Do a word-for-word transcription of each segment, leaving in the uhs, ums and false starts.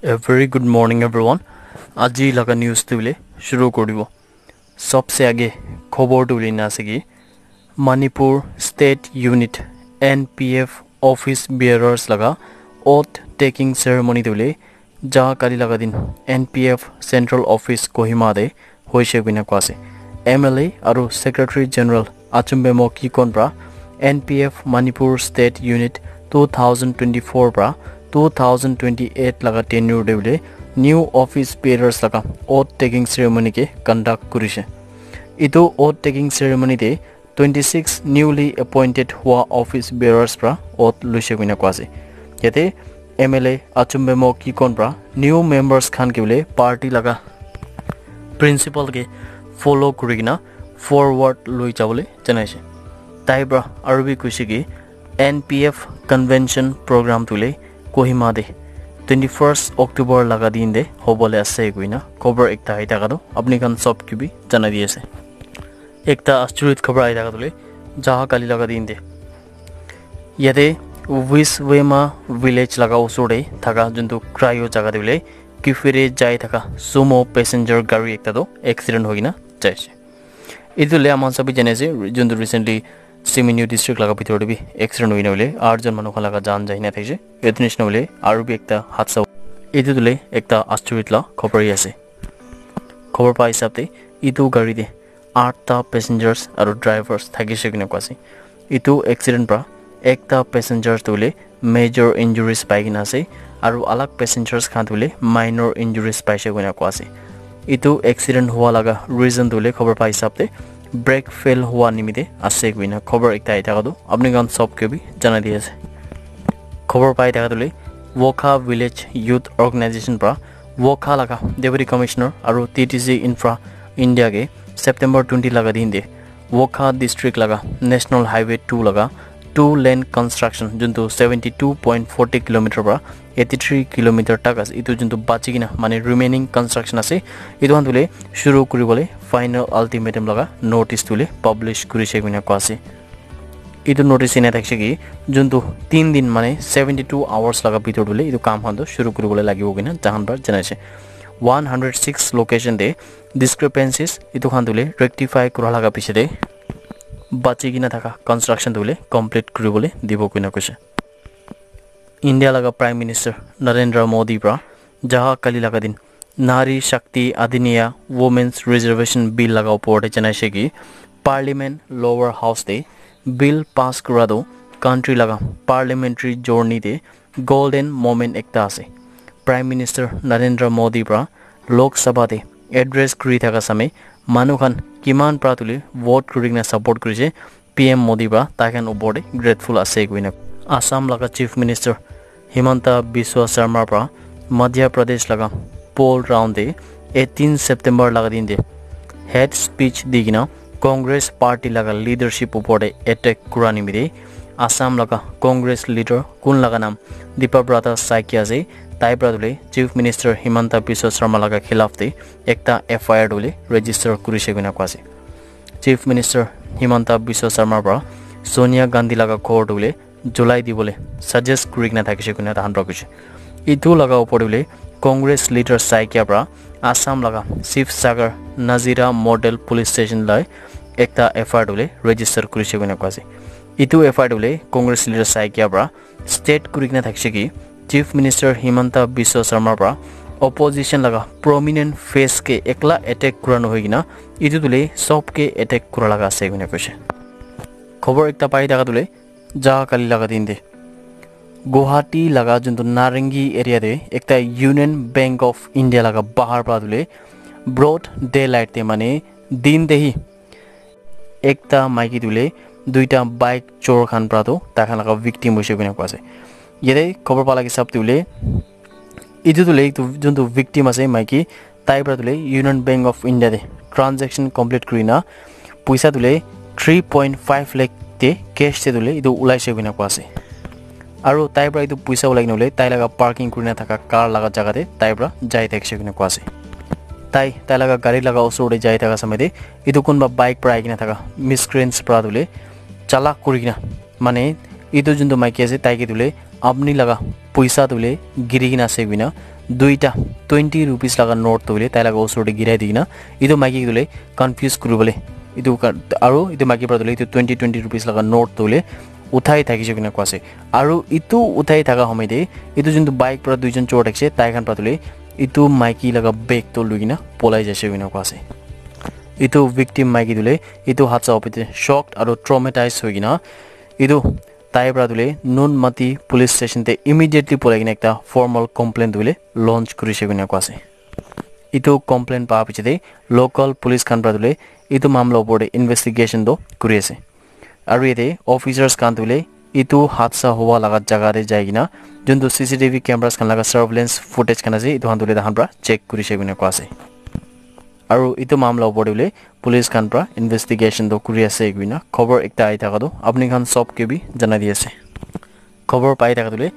A very good morning, everyone. Aji laga news tu le shuru koribo. Sabse age khobor tu le na ase ki Manipur State Unit N P F office bearers laga oath taking ceremony tu le ja kali laga din N P F Central Office Kohima de hoise koina koa ase. M L A aru Secretary General Achumbemo Kikon pra N P F Manipur State Unit two thousand twenty-four pra two thousand twenty-eight laga tenure de bole new office bearers laga oath taking ceremony ke conduct kurise. Itu oath taking ceremony de twenty-six newly appointed hua office bearers pra oath luise koina koa ase. Yate M L A Achumbemo Kikon pra new members khan ke bole party laga principle ke follow kuri kena forward loi jabole janaise. Tai pra aru bi kuise ki N P F convention program tu le Kohima de twenty-first October laga din de hobole ase koina khobor ekta ahi thaka tu apni khan sob ke bi janai di ase. Ekta asturit khobor ahi thaka tu le jaha kali laga din de yate Wiswema village laga usor de thaka juntu cryo jaga de bole kifire jai thaka sumo passenger gari ekta tu accident hoi kena jaise. Itu le aman sabi jane ase juntu recently Siminyu district laga bitor de bi accident hoina bole aat jon manu khan laga jaan jai na thaise. Etu nishina bole aru bi ekta hadsa itu tu le ekta asturit la khobor hi ase. Khobor pa hisab te itu gari de atta passengers aru drivers thakise koina koa ase. Itu accident pra ekta passengers tu le major injuries pai kena ase aru alag passengers khan tu le minor injuries paise koina koa ase. Itu accident hua laga reason tu le khobor pa hisab te brake fail hua nimite ase koina khobor ekta ahi thaka tu apni khan sob ke bi janai di ase. Khobor pai thaka tu le Wokha Village Youth Organization pra Wokha laga Deputy Commissioner aru T T C Infra India ke September twenty laga din de Wokha district laga National Highway two laga two lane construction juntu seventy two point forty kilometer pra eighty three kilometer tak ase itu juntu bachi kena mane remaining construction ase itu khan tu le shuru kuri bole final ultimatum laga notice tu le publish kurise koina koa ase. Itu notice ena thakise ki juntu tin din mane seventy two hours laga bitor tu le itu kam khan tu shuru kuri bole lagibo koina tahan pra janaise. One hundred six location de discrepancies itu khan tu le rectify kura laga piche de bachi kena thaka construction tu le complete kuri bole dibo koina koise. India laga Prime Minister Narendra Modi pra jaha kali laga din Nari Shakti Adhiniya Women's Reservation Bill laga upor de janaise ki Parliament Lower House de bill pass kura tu country laga parliamentary journey de golden moment ekta ase. Prime Minister Narendra Modi pra Lok Sabha de address kuri thaka same manu khan kiman pra tu le vote kuri kena support kurise P M Modi pra tai khan upor de grateful ase koina. Assam laga Chief Minister Himanta Biswa Sarma pra Madhya Pradesh laga poll round de eighteen September laga din de hate speech di kena Congress party laga leadership upor de attack kura nimite Assam laga Congress leader kun laga naam Debabrata Saikia ase tai pra tu le Chief Minister Himanta Biswa Sarma laga khilaf de ekta F I R tu le register kurise koina koa ase. Chief Minister Himanta Biswa Sarma pra Sonia Gandhi laga ghor tu le julai dibole suggest kuri kena thakise koina tahan pra koise. Itu laga upor de bole Congress leader Saikia pra Assam laga Sivsagar Nazira Model Police Station lai ekta F I R tu le register kurise koina koa ase. Itu F I R tu le Congress leader Saikia pra state kuri kena thakise ki Chief Minister Himanta Biswa Sarma pra opposition laga prominent face ke ekla attack kura nohoi kena itu tu le sob ke attack kura laga ase koina koise. Khobor ekta pai thaka tu le jaha kali laga din de Guwahati laga juntu Narangi area de ekta Union Bank of India laga bahar pra tu le broad daylight de mane din de hi ekta maiki tu le duita bike chor khan pra tu tai khan laga victim hoise koina koa ase. Yate khobor pa laga hisab tu le itu tu le itu juntu victim ase maiki tai pra tu le Union Bank of India de transaction complete kuri na puisa tu le three point five lakh te cash te tu le itu ulaise koina koa ase. Aru tai pra itu puisa ulai kena bole tai laga parking kurina thaka car laga jaga te tai pra jai thakise koina koa ase. Tai tai laga gari laga usor te jai thaka samay te itu kunba bike pra ahi kena thaka miscreants pra tu le chalak kuri kena mane itu juntu maiki ase tai ke tu le apni laga poisa tu hoile giri kena ase koina duita twenty rupees laga note tu hoile tai laga osor te girai di kena etu maiki tu hoile confuse kuri bole etu ka- aru etu maiki para tu hoile etu twenty twenty rupees laga note tu hoile uthai thakise koina koa ase. Aru etu uthai thaka homoi te etu juntu bike para duijon chor thakise tai khan para tu hoile etu maiki laga bag tu lui kena polai jaise koina koa ase. Etu victim maiki tu hoile etu hadsa opor te shocked aru traumatized hoi kena etu tai para tu hoile Nunmati police station te immediately polai kena ekta formal complaint tu hoile launch kurise koina koa ase. Etu complaint pa piche te local police khan para tu hoile etu mamla opor te investigation tu kuri ase. Aru yate officers khan tu hoile etu hadsa howa laga jaga te jai kena juntu C C T V cameras khan laga surveillance footage khan ase etu khan tu hoile tahan para check kurise koina koa ase. Aru etu mamla opor te hoile police khan para investigation tu kuri ase koina khobor ekta ahi thaka tu apni khan sob ke bi janai di ase. Khobor pai thaka tu hoile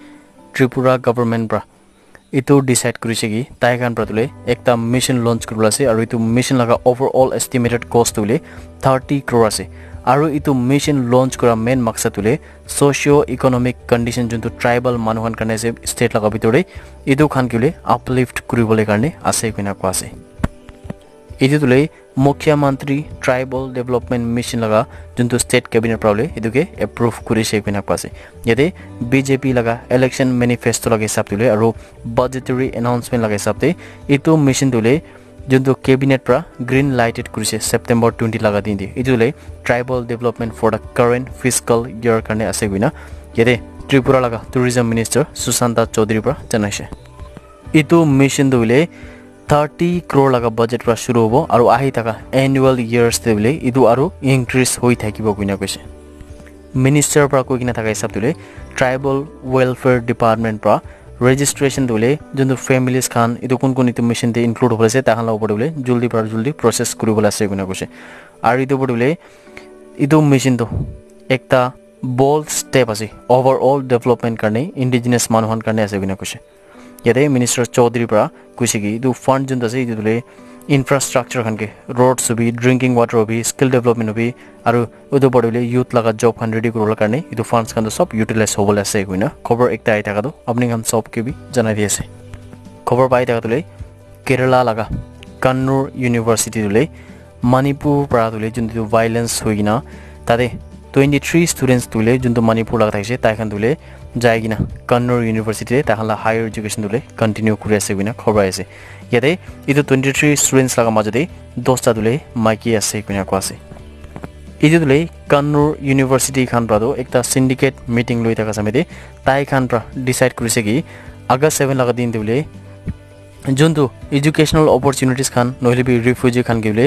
Tripura government para etu decide kurise ki tai khan para tu hoile ekta mission launch kuribole ase aru etu mission laga overall estimated cost tu hoile thirty crore ase. Aru etu mission launch kura main maksad tu hoile socio economic condition juntu tribal manu khan karne ase state laga bitor te etu khan ke hoile uplift kuribole karne ase koina koa ase. Etu tu hoile Mukhyamantri Tribal Development Mission laga juntu state cabinet para hoile etu ke approve kurise koina koa ase. Yate B J P laga election manifesto laga hisab tu hoile aru budgetary announcement laga hisab te etu mission tu hoile juntu cabinet para green lighted kurise September twenty laga din te. Etu tu hoile tribal development for the current fiscal year karne ase koina yate Tripura laga tourism minister Sushanta Chaudhary para janaise. Etu mission tu hoile thirty crore laga budget para shuru hobo aru ahi thaka annual years te hoile etu aru increase hoi thakibo koina koise. Minister para koi kena thaka hisab tu hoile tribal welfare department para registration tu hoile juntu families khan etu kun kun etu mission te include hobole ase tai khan laga opor te hoile jaldi para jaldi process kuribole ase koina koise. Aru etu opor te hoile etu mission tu ekta bold step ase overall development karne indigenous manu khan karne ase koina koise. Yate minister Chaudhary para koise ki etu fund juntu ase etu tu hoile infrastructure khan ke roads hobi drinking water hobi skill development hobi aru etu opor te hoile youth laga job khan ready kuribole karne etu funds khan tu sob utilize hobole ase koina khobor ekta ahi thaka tu apni khan sob ke bi janai di ase. Khobor pai thaka tu hoile Kerala laga Kannur University tu hoile Manipur para tu hoile juntu violence hoi kena tate twenty three students tu hoile juntu Manipur laga thakise tai khan tu hoile jai kena Kannur University te tai khan la higher education tu hoile continue kuri ase koina khobor ase. Yate etu twenty three students laga majo te dosta tu hoile maiki ase koina koa ase. Etu tu hoile Kannur University khan para tu ekta syndicate meeting loi thaka samay te tai khan para decide kurise ki August seven laga din tu hoile juntu educational opportunities khan nohole bi refugee khan ke hoile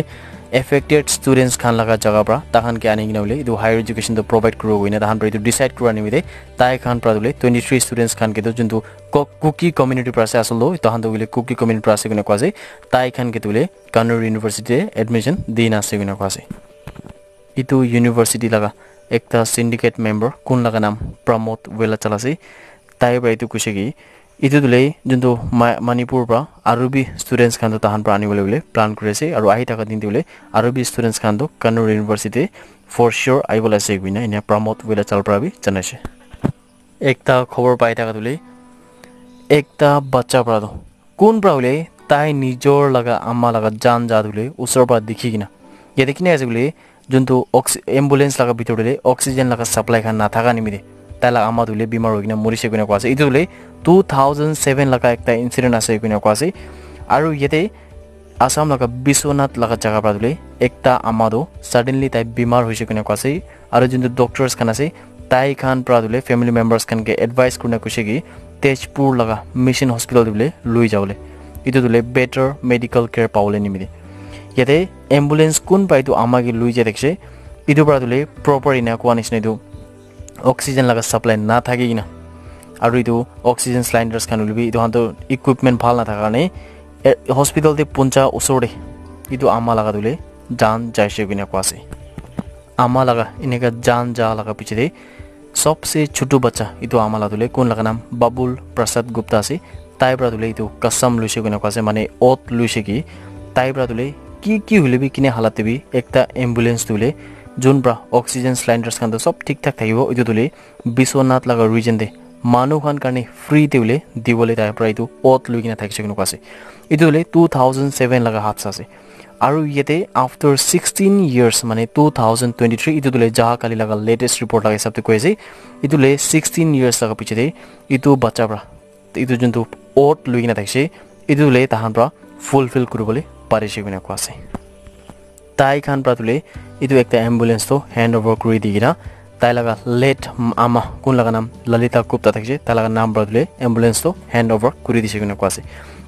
affected students khan laga jaga para tai khan ke ani kena hoile etu higher education tu provide kuribo koina tai khan para etu decide kura nimite tai khan para hoile twenty three students khan ke tu juntu Ko- Kuki community para ase asol tu tai khan tu hoile Kuki community para ase koina koa ase tai khan ke tu hoile Kannur University te admission di na ase koina koa ase. Etu university laga ekta syndicate member kun laga naam Pramod Velachal ase. Tai para etu koise ki etu tu hoile juntu Ma- Manipur para aru bi students khan tu tahan para ani bole bole plan kuri ase aru ahi thaka din tu hoile aru bi students khan tu Kannur University for sure ahi bole ase koina ena Pramod Velachal para bi janai ase. Ekta khobor pai thaka tu hoile ekta bacha para tu kun para hoile tai nijor laga ama laga jaan ja tu hoile usor para dikhi kena yate kina ase koile juntu ox- ambulance laga bitor te oxygen laga supply khan nathaka nimite tai laga ama tu hoile bimar hoi kena morise koina koa ase. Etu tu hoile two thousand seven laga ekta incident ase koina koa ase. Aru yate Assam laga Biswanath laga jaga para tu hoile ekta ama tu suddenly tai bimar hoise koina koa ase. Aru juntu doctors khan ase tai khan para tu hoile family members khan ke advice kurina koise ki Tezpur laga mission hospital te hoile loi jabole etu tu hoile better medical care pabole nimite yate ambulance kun para etu ama ke loi jai thakise etu para tu hoile proper ena koa nisna etu oxygen laga supply na thaki kena aru etu oxygen cylinders khan hoile bi etu khan tu equipment bhal na thaka karne eh, hospital te puncha usor te etu ama laga tu hoile jaan jaise koina koa ase. Ama laga eneka jaan ja laga piche te sobse chotu bacha etu ama la tu hoile kun laga naam Babul Prasad Gupta ase. Tai para tu hoile etu kasam loise koina koa ase mane oath loise ki tai para tu hoile ki ki hoile bi kine halat te bi ekta ambulance tu hoile jun para oxygen cylinders khan tu sob thik thak thakibo etu tu hoile Biswanath laga region te manu khan karne free te hoile dibole tai pra etu oath lui kena thakise koina koa ase. Etu hoile two thousand seven laga hadsa ase. Aru yate after sixteen years, mane two thousand twenty-three, etu tu le Jaha Kali laga latest report laga hisab te koi ase, etu le sixteen years laga piche te etu bacha pra, etu juntu oath lui kena thakise, etu le tahan pra fulfill kuribole parise koina koa ase. Tai khan pra tu le etu ekta ambulance to hand over kuri di kena, tai laga late ama kun laga naam Lalita Gupta thakise, tai laga naam pra tu le ambulance to hand over kuri dise koina koa ase.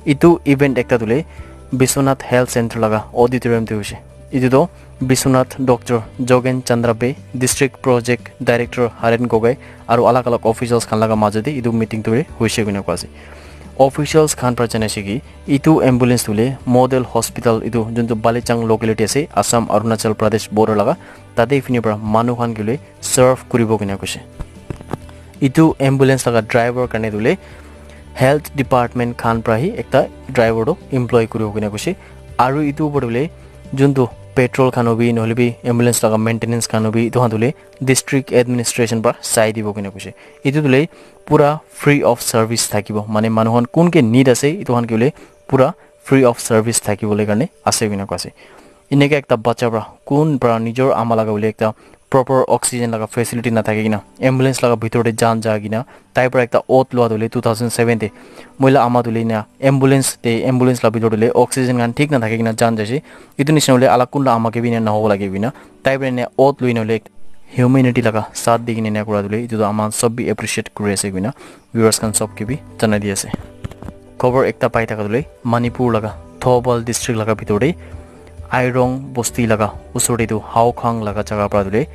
Etu event ekta tu le Biswanath Health Center laga auditorium te hoise. Etu to Biswanath Doctor Jogen Chandra Bey, District Project Director Haren Gogoi, aru alag alag officials khan laga majo te etu meeting tu hoise koina koa ase. Officials khan pra janai se ki etu ambulance tu le model hospital etu juntu Balichang locality ase, Assam Arunachal Pradesh border laga, tate fini pra manu khan ke le serve kuribo koina koise. Etu ambulance laga driver karne tu le health department khan pra hi ekta driver to employ kuribo koina koise. Aru etu upor tu le juntu petrol khan hobi nohole bi ambulance laga maintenance khan hobi etu khan tu le district administration pra sai dibo koina koise. Etu tu le pura free of service thakibo, mane manu khan kun ke need ase etu khan ke le pura free of service thakibole karne ase koina koa ase. Eneka ekta bacha pra kun pra nijor ama laga bole ekta proper oxygen laga facility na thaki kena ambulance laga bhitor te jan ja kena tai pra ekta oath lua tu le two thousand seven te moi la ama tu le na ambulance te, ambulance la bhitor te le oxygen khan thik na thaki kena jan jaise. Etu nisina hoile alag kun la ama ke bi na nahobo lage koina tai pra na oath lui na hoile humanity laga saath di kena na kura tu le etu tu ama sob bi appreciate kuri ase koina viewers khan sob ke bi janai di ase. Khobor ekta pai thaka tu le Manipur laga Thoubal district laga bhitor te Airong bosti laga usor te tu Haukhang laga jaga pra tu le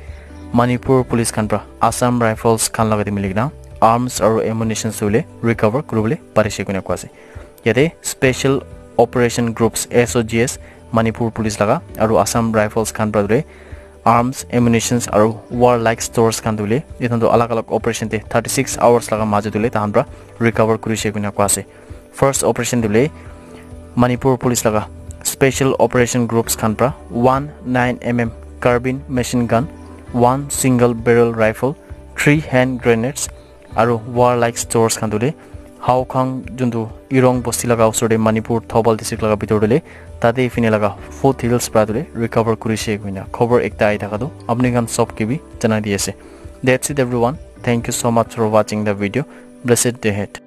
Manipur police khan pra Assam Rifles khan laga te mili kena arms aru ammunitions tu le recover kuribole parise koina koa ase. Yate Special Operation Groups, S O G S, Manipur police laga aru Assam Rifles khan pra tu le arms, ammunitions aru warlike stores khan tu le etu tu alag alag operation te thirty six hours laga majo tu le tahan pra recover kurise koina koa ase. First operation tu le Manipur police laga Special Operation Groups khan pra one nine M M carbine machine gun, one single barrel rifle, three hand grenades aru warlike stores khan tu le Haukhang juntu Irong bosti laga usor te Manipur Thoubal district laga bhitor te le tate fini laga foothills pra tu le recover kurise koina khobor ekta ai thaka tu apni khan sob ke bi janai di ase. That's it everyone. Thank you so much for watching the video. Blessed day ahead.